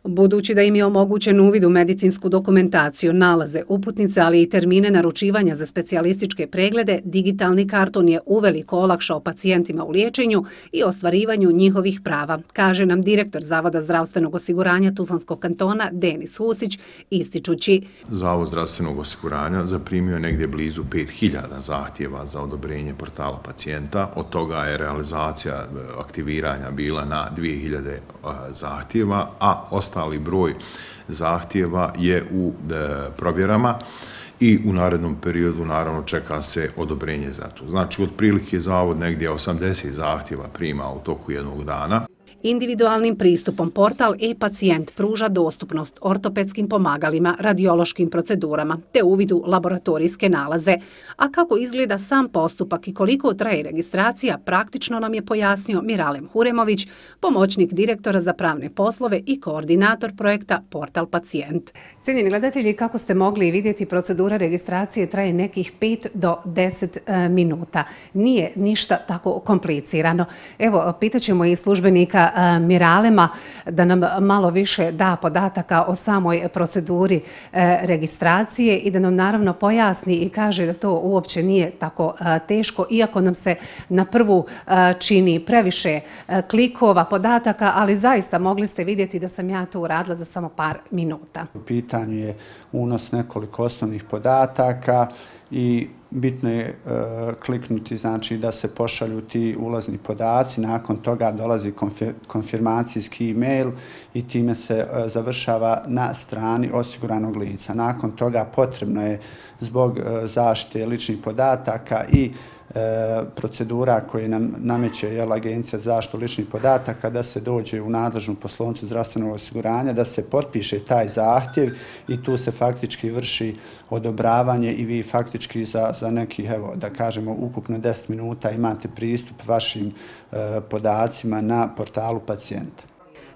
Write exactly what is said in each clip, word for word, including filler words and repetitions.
Budući da im je omogućen uvid u medicinsku dokumentaciju, nalaze, uputnice, ali i termine naručivanja za specijalističke preglede, digitalni karton je uveliko olakšao pacijentima u liječenju i ostvarivanju njihovih prava, kaže nam direktor Zavoda zdravstvenog osiguranja Tuzlanskog kantona Denis Husić, ističući: Zavod zdravstvenog osiguranja zaprimio je negdje blizu pet hiljada zahtjeva za odobrenje portala pacijenta. Od toga je realizacija aktiviranja bila na dvije hiljade zahtjeva, a ostali broj zahtjeva je u provjerama i u narednom periodu naravno čeka se odobrenje za to. Znači, otprilike zavod negdje osamdeset zahtjeva prima u toku jednog dana. Individualnim pristupom portal e-pacijent pruža dostupnost ortopedskim pomagalima, radiološkim procedurama te uvidu laboratorijske nalaze. A kako izgleda sam postupak i koliko traje registracija, praktično nam je pojasnio Miralem Huremović, pomoćnik direktora za pravne poslove i koordinator projekta Portal pacijent. Cijenjeni gledatelji, kako ste mogli vidjeti, procedura registracije traje nekih pet do deset minuta. Nije ništa tako komplicirano. Evo, pitaćemo i službenika Miralema da nam malo više da podataka o samoj proceduri registracije i da nam naravno pojasni i kaže da to uopće nije tako teško, iako nam se na prvu čini previše klikova, podataka, ali zaista mogli ste vidjeti da sam ja to uradila za samo par minuta. U pitanju je unos nekoliko osnovnih podataka i bitno je e, kliknuti, znači da se pošalju ti ulazni podaci, nakon toga dolazi konfirmacijski e-mail i time se e, završava na strani osiguranog lica. Nakon toga potrebno je zbog e, zaštite ličnih podataka i procedura koje nam nameće jel, Agencija za zaštitu ličnih podataka da se dođe u nadležnu poslovnicu zdravstvenog osiguranja, da se potpiše taj zahtjev i tu se faktički vrši odobravanje i vi faktički za, za nekih, evo, da kažemo, ukupno deset minuta imate pristup vašim e, podacima na portalu pacijenta.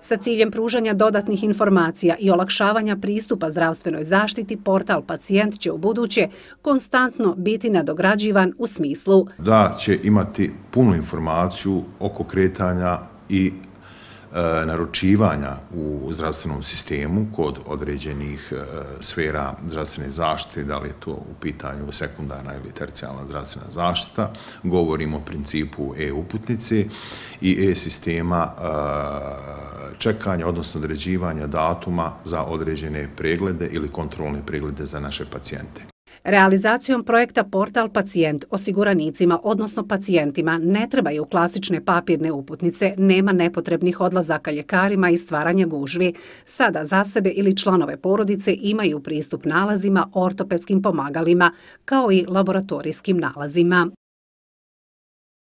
Sa ciljem pružanja dodatnih informacija i olakšavanja pristupa zdravstvenoj zaštiti, portal pacijent će u buduće konstantno biti nadograđivan u smislu da će imati punu informaciju oko kretanja i e, naručivanja u zdravstvenom sistemu kod određenih e, sfera zdravstvene zaštite, da li je to u pitanju sekundarna ili tercijalna zdravstvena zaštita. Govorimo o principu e-uputnice i e-sistema e, čekanja, odnosno određivanja datuma za određene preglede ili kontrolne preglede za naše pacijente. Realizacijom projekta Portal pacijent osiguranicima, odnosno pacijentima, ne trebaju klasične papirne uputnice, nema nepotrebnih odlazaka ljekarima i stvaranja gužvi. Sada za sebe ili članove porodice imaju pristup nalazima, ortopedskim pomagalima, kao i laboratorijskim nalazima.